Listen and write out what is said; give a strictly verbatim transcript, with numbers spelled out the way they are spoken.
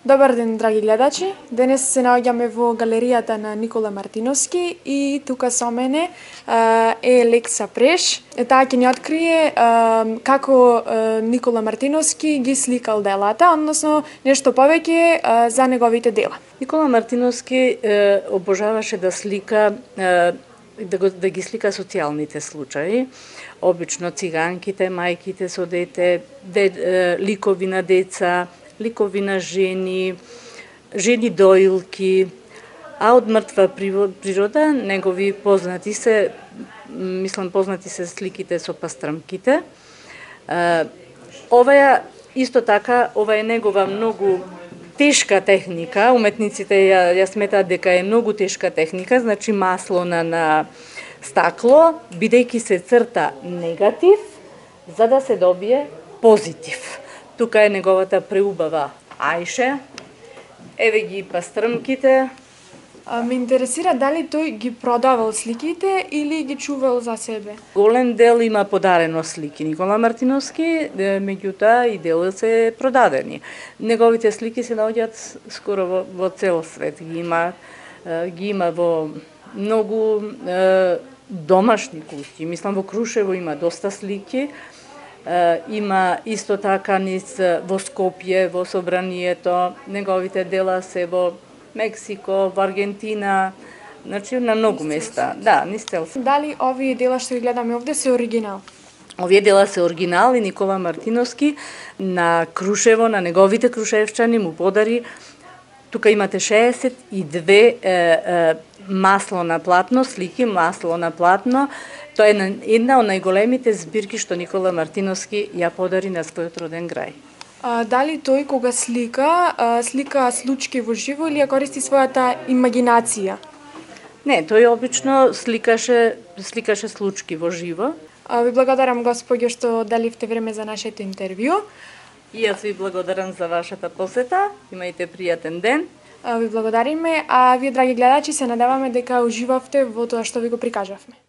Добар ден, драги гледачи. Денес се наоѓаме во галеријата на Никола Мартиновски и тука со мене е Лекса Преш. Таа ќе ни открие како Никола Мартиновски ги сликал делата, односно нешто повеќе за неговите дела. Никола Мартиновски обожаваше да слика да, го, да ги слика социјалните случаи, обично циганките, мајките со дете, де, ликови на деца, ликови на жени, жени доилки, а од мртва природа негови познати се, мислам познати се сликите со пастрмките. Оваа исто така, ова е негова многу тешка техника, уметниците ја, ја сметаат дека е многу тешка техника, значи масло на, на стакло, бидејќи се црта негатив, за да се добие позитив. Тука е неговата преубава ајше, еве ги пастрмките. А, ме интересира дали тој ги продавал сликите или ги чувал за себе? Голем дел има подарено слики Никола Мартиновски, меѓутоа и дел се продадени. Неговите слики се наоѓаат скоро во, во цел свет. Ги има, ги има во многу е, домашни куќи. Мислам во Крушево има доста слики. Има исто така низ во Скопје, во собранието, неговите дела се во Мексико, во Аргентина, значи на многу места. Да, низ цел свет. Дали овие дела што ги гледаме овде се оригинал? Овие дела се оригинал и Никола Мартиновски на Крушево, на неговите крушевчани му подари. Тука имате шеесет и две е, е, масло на платно, слики масло на платно. Тоа е една од најголемите збирки што Никола Мартиновски ја подари на својот роден крај. А, дали тој кога слика, а, слика случки во живо или ја користи својата имагинација? Не, тој обично сликаше, сликаше случки во живо. А, ви благодарам, господјо, што даливте време за нашето интервју. И јас ви благодарам за вашата посета. Имајте пријатен ден. А, ви благодариме, а вие, драги гледачи, се надеваме дека уживавте во тоа што ви го прикажавме.